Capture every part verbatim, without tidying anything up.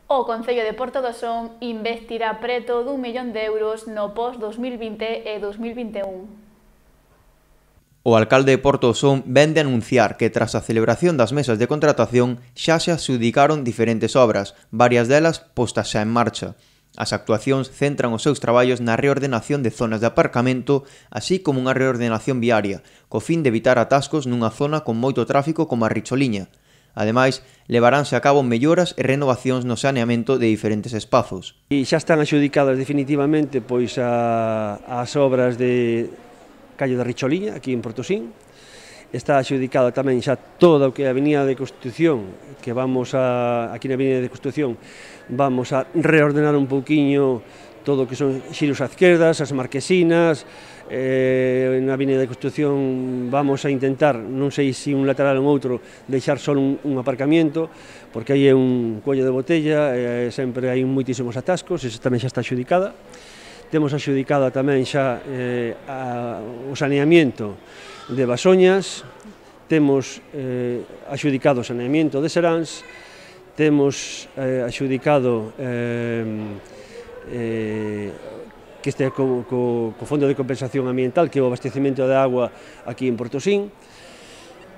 O Concello de Porto do Son investirá preto dun millón de euros no pos dos mil vinte e dos mil vinte e un. O alcalde de Porto do Son vén de anunciar que tras a celebración das mesas de contratación xa se adxudicaron diferentes obras, varias delas postas xa en marcha. As actuacións centran os seus traballos na reordenación de zonas de aparcamento, así como unha reordenación viaria, co fin de evitar atascos nunha zona con moito tráfico como a Richoliña. Ademais, levaránse a cabo melloras e renovacións no saneamento de diferentes espazos. E xa están adxudicadas definitivamente pois a, as obras de Calle da Richoliña, aquí en Portosín. Está adxudicada tamén xa toda o que é a Avenida de Constitución, que vamos a, aquí na Avenida de Constitución, vamos a reordenar un pouquiño todo o que son xiros á esquerdas, as marquesinas, eh, na Avenida de Constitución vamos a intentar, non sei se un lateral ou outro, deixar só un, un aparcamiento, porque aí é un cuello de botella, eh, sempre hai moitísimos atascos, esa tamén xa está adxudicada. Temos adxudicada tamén xa eh, a, o saneamiento de Basoñas, temos eh, adxudicado o saneamiento de Seráns, temos eh, adxudicado eh, eh, que este co, co, co Fondo de Compensación Ambiental, que é o abastecemento de agua aquí en Portosín.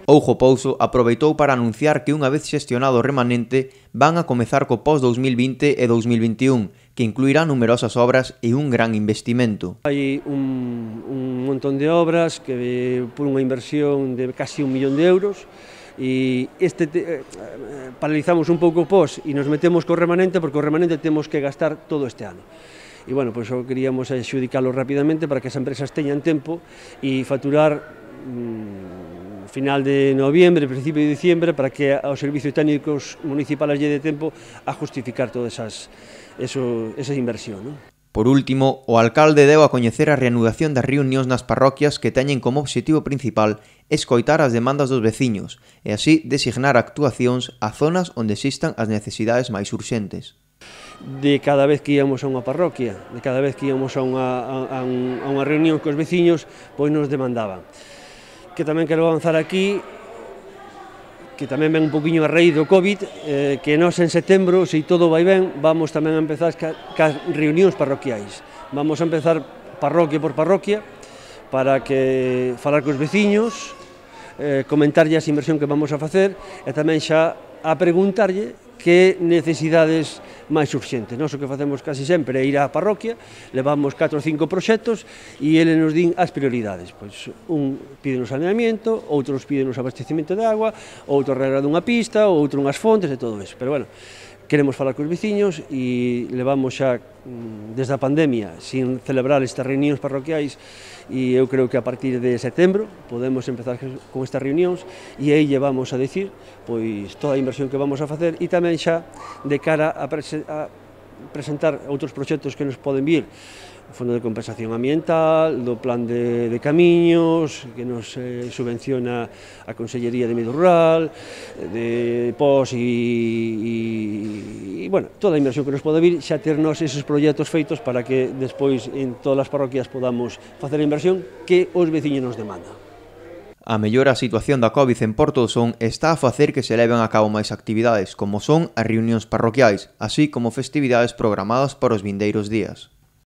Oujo Pouso aproveitou para anunciar que unha vez xestionado o remanente van a comezar co pos dos mil vinte e dos mil vinte e un, que incluirá numerosas obras e un gran investimento. Hai un, un montón de obras que por unha inversión de casi un millón de euros, e este te, eh, paralizamos un pouco o pos e nos metemos co remanente, porque o remanente temos que gastar todo este ano. E, bueno, pois pues, queríamos adxudicalo rapidamente para que as empresas teñan tempo e facturar mmm, final de noviembre, principio de diciembre, para que aos servicios técnicos municipales lle dé tempo a justificar toda esas, eso, esa inversión, ¿no? Por último, o alcalde deu a coñecer a reanudación das reunións nas parroquias que teñen como obxectivo principal escoitar as demandas dos veciños e así designar actuacións a zonas onde existan as necesidades máis urxentes. De cada vez que íamos a unha parroquia, de cada vez que íamos a unha, a, a, un, a unha reunión cos veciños, pois nos demandaban. Que tamén quero avanzar aquí, que tamén ven un poquinho a raíz do COVID, eh, que nós en setembro, se todo vai ben, vamos tamén a empezar ca, cas reunións parroquiais. Vamos a empezar parroquia por parroquia, para que falar cos veciños, eh, comentarlle as inversión que vamos a facer, e tamén xa a preguntarlle que necesidades máis urxentes. Nós o que facemos casi sempre é ir á parroquia, levamos catro ou cinco proxectos e eles nos din as prioridades. Pois un pide un saneamiento, outros piden un abastecimento de agua, outro arregla dunha pista, outro unhas fontes e todo eso. Pero, bueno, queremos falar cos veciños e levamos xa desde a pandemia sin celebrar estas reunións parroquiais e eu creo que a partir de setembro podemos empezar con estas reunións e aí lle vamos a decir pois toda a inversión que vamos a facer e tamén xa de cara a, prese a presentar outros proxectos que nos poden vir, o Fondo de Compensación Ambiental, do Plan de, de Camiños, que nos eh, subvenciona a Consellería de Medio Rural, de P O S e, e, e, bueno, toda a inversión que nos pode vir, xa ternos esos proxectos feitos para que despois en todas as parroquias podamos facer a inversión que os veciños nos demandan. A mellora a situación da COVID en Porto do Son está a facer que se leven a cabo máis actividades, como son as reunións parroquiais, así como festividades programadas para os vindeiros días.